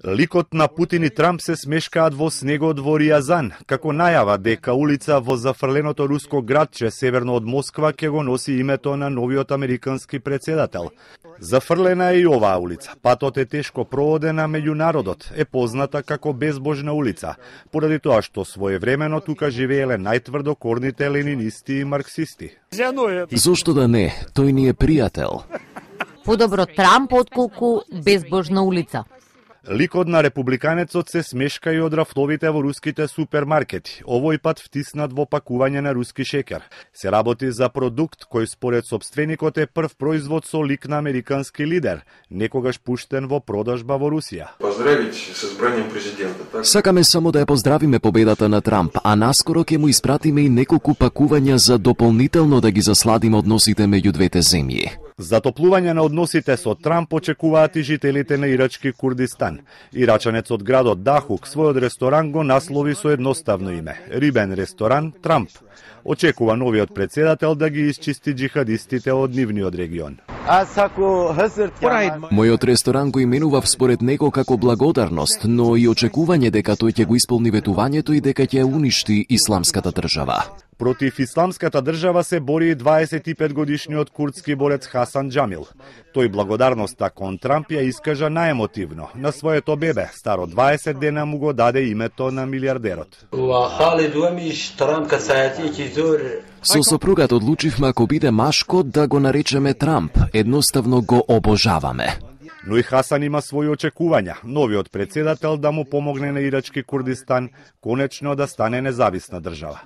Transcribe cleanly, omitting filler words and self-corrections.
Ликот на Путин и Трамп се смешкаат во снегот во Риазан, како најава дека улица во зафрленото руско градче северно од Москва ќе го носи името на новиот американски председател. Зафрлена е и оваа улица. Патот е тешко проводен, а меѓу народот е позната како безбожна улица, поради тоа што своевремено тука живееле најтврдокорните ленинисти и марксисти. Зошто да не? Тој ни е пријател. Подобро Трамп отколку безбожна улица. Ликот на републиканецот се смешка и од рафтовите во руските супермаркети, овој пат втиснат во пакување на руски шеќер. Се работи за продукт кој според собственикот е прв производ со лик на американски лидер, некогаш пуштен во продажба во Русија. Поздравить со избранием президента. Сакаме само да ја поздравиме победата на Трамп, а наскоро ќе му испратиме и неколку пакувања за дополнително да ги засладиме односите меѓу двете земји. Затоплување на односите со Трамп очекуваат и жителите на ирачки Курдистан. Ирачанец од градот Дахук својот ресторан го наслови со едноставно име – Рибен ресторан Трамп. Очекува новиот председател да ги исчисти джихадистите од нивниот регион. Мојот ресторан го именував според него како благодарност, но и очекување дека тој ќе го исполни ветувањето и дека ќе уништи исламската држава. Против исламската држава се бори 25-годишниот курдски борец Хасан Џамил. Тој благодарноста кон Трамп ја искажа наемотивно. На своето бебе, старо 20 дена, му го даде името на милиардерот. Со сопругат одлучивме ако биде машко да го наречеме Трамп. Едноставно го обожаваме. Но и Хасан има своји очекувања. Новиот председател да му помогне на ирачки Курдистан конечно да стане независна држава.